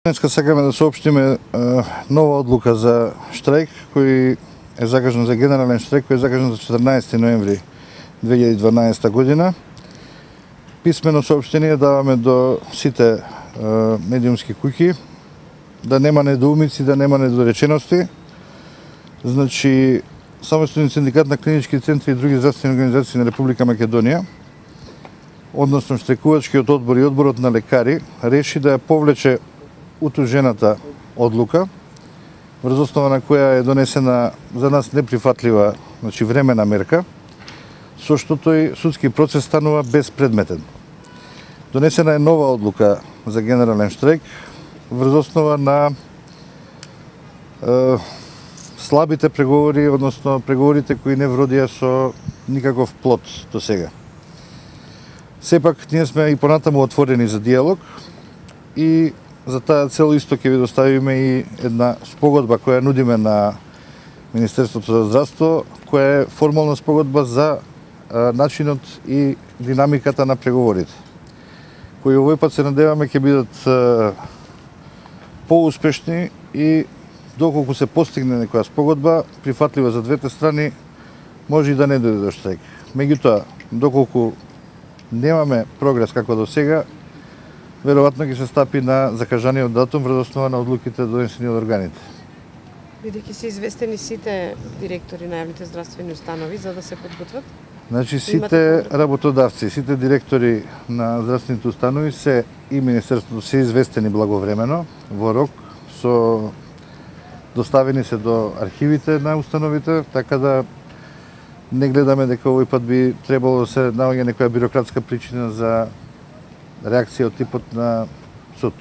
Денеска сакаме да соопштиме нова одлука за штрајк кој е закажан, за генерален штрајк кој е закажан за 14 ноември 2012 година. Писмено соопштение даваме до сите медиумски куќи да нема недоумици, да нема недоречености. Значи, Самостоен синдикат на клинички центри и други здравствени организации на Република Македонија, односно штрајкувачкиот одбор и одборот на лекари, реши да ја повлече утужената одлука, врз основа на која е донесена за нас неприфатлива, значи времена мерка, со што тој судски процес станува безпредметен. Донесена е нова одлука за генерален штрајк врз основа на слабите преговори, односно преговорите кои не вродија со никаков плод до сега. Сепак, ние сме и понатаму отворени за диалог и за таа цел исто ќе ви доставиме и една спогодба која нудиме на Министерството за здравство, која е формална спогодба за начинот и динамиката на преговорите, кои овој пат се надеваме ќе бидат поуспешни и доколку се постигне некоја спогодба прифатлива за двете страни, може и да не дојде до штрајк. Меѓутоа, доколку немаме прогрес како до сега, веројатно ќе се стапи на закажаниот датум врз основа на одлуките донесени од органите. Бидејќи се известени сите директори на јавните здравствени установи за да се подготват? Значи, сите работодавци, сите директори на здравствените установи се и Министерството се известени благовремено, во рок, со доставени се до архивите на установите, така да не гледаме дека овој пат би требало да се наоѓа некоја бирократска причина за реакција од типот на суд.